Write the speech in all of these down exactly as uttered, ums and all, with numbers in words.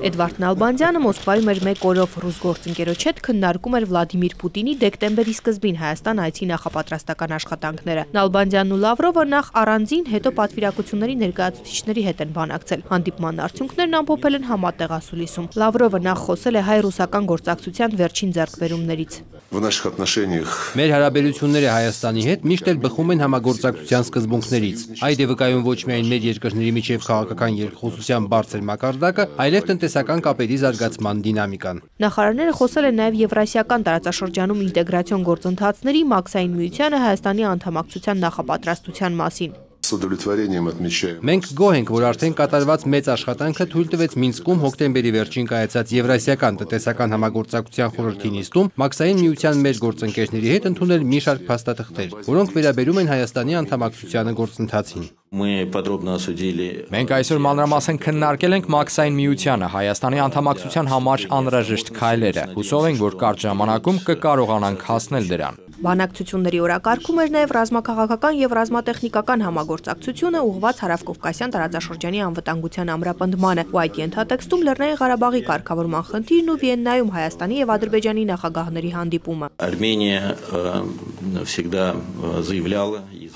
Էդվարդ Նալբանդյանը Մոսկվայում էր մեկ օրով ռուս գործընկերոջ հետ քննարկում էր Վլադիմիր Պուտինի դեկտեմբերի սկզբին Հայաստան այցի նախապատրաստական աշխատանքները։ Նալբանդյանն ու Լավրովը նախ առանձին, հետո պատվիրակությունների ներկայացուցիչների հետ են բանակցել։ Հանդիպման արդյունքներն ամփոփել են համատեղ ասուլիսում։ Լավրովը նախ խոսել է հայ-ռուսական գործակցության վերջին ձեռքբերումներից։ Մեր հարաբերությունները Հայաստանի հետ միշտ էլ բխում են համագործակցության սկզբունքներից։ Այդ է վկայում ոչ միայն մեր երկրների միջև քաղաքական երկխոսության բարձր մակարդակը, այլև տնտեսական կապերի զարգացման դինամիկան։ Նախարարները խոսել են նաև Եվրասիական տարածաշրջանում ինտեգրացիոն գործընթացների, Մաքսային միությանը Հայաստանի անդամակցության նախապատրաստության մասին։ Մենք գոհ ենք, որ արդեն կատարված մեծ աշխատանքը թույլ տվեց Մինսկում հոկտեմբերի վերջին կայացած Եվրասիական տնտեսական համագործակցության խորհրդի նիստում Մաքսային միության մեր գործընկերների հետ ընդունել մի շարք փաստաթղթեր, որոնք վերաբերում են Հայաստանի անդամակցությանը գործընթացին։ Մենք այսօր մանրամասն քննարկել ենք Մաքսային միությանը Հայաստանի անդամակցության համար անհրաժեշտ քայլերը։ Հուսով ենք, որ կարճ ժամանակում կկարողանանք հասնել դրան։ Բանակցությունների օրակարգում էր նաև ռազմաքաղաքական եւ ռազմատեխնիկական համագործակցությունը ուղղված Հարավկովկասյան տարածաշրջանի անվտանգության ամրապնդմանը, ու այդ ենթատեքստում Լեռնային Ղարաբաղի կարգավորման խնդիրն ու Վիեննայում Հայաստանի եւ Ադրբեջանի նախագահների հանդիպումը։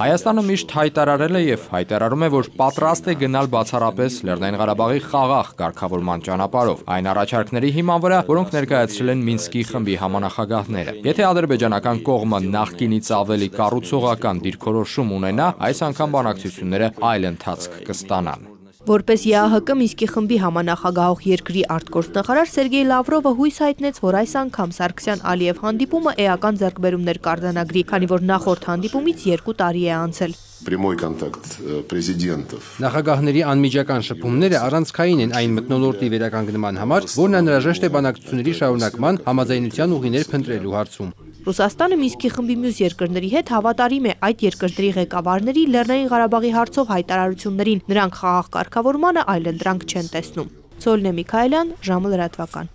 Հայաստանը միշտ հայտարարել է եւ հայտարարում է, որ պատրաստ է գնալ բացառապես Լեռնային Ղարաբաղի խաղաղ կարգավորման ճանապարհով, այն առաջարկների հիման վրա, որոնք ներկայացրել են Մինսկի խմբի համանախագահները։ Եթե ադրբեջանական կողմը նախկինից ավելի կառուցողական դիրքորոշում ունենա, այս անգամ բանակցությունները այլ ընթացք կստանան։ Որպես ԵԱՀԿ Մինսկի խմբի համանախագահող երկրի արտգործնախարար Սերգեյ Լավրովը հույս հայտնեց, որ այս անգամ Սարգսյան-Ալիև հանդիպումը էական ձեռքբերումներ կարձանագրի, քանի որ նախորդ հանդիպումից երկու տարի է անցել։ Նախագահների անմիջական շփումները առանցքային են այն մթնոլորտի վերականգնման համար, որն անհրաժեշտ է բանակցությունների շարունակման համաձայնության ուղիներ փնտրելու հարցում։ Ռուսաստանը Մինսկի խմբի մյուս երկրների հետ հավատարիմ է այդ երկրների ղեկավարների Լեռնային Ղարաբաղի հարցով հայտարարություններին, նրանք խաղաղ կարգավորմանը այլընտրանք չեն տեսնում։ Ցոլնե Միքայելյան, ժամը լրատվական։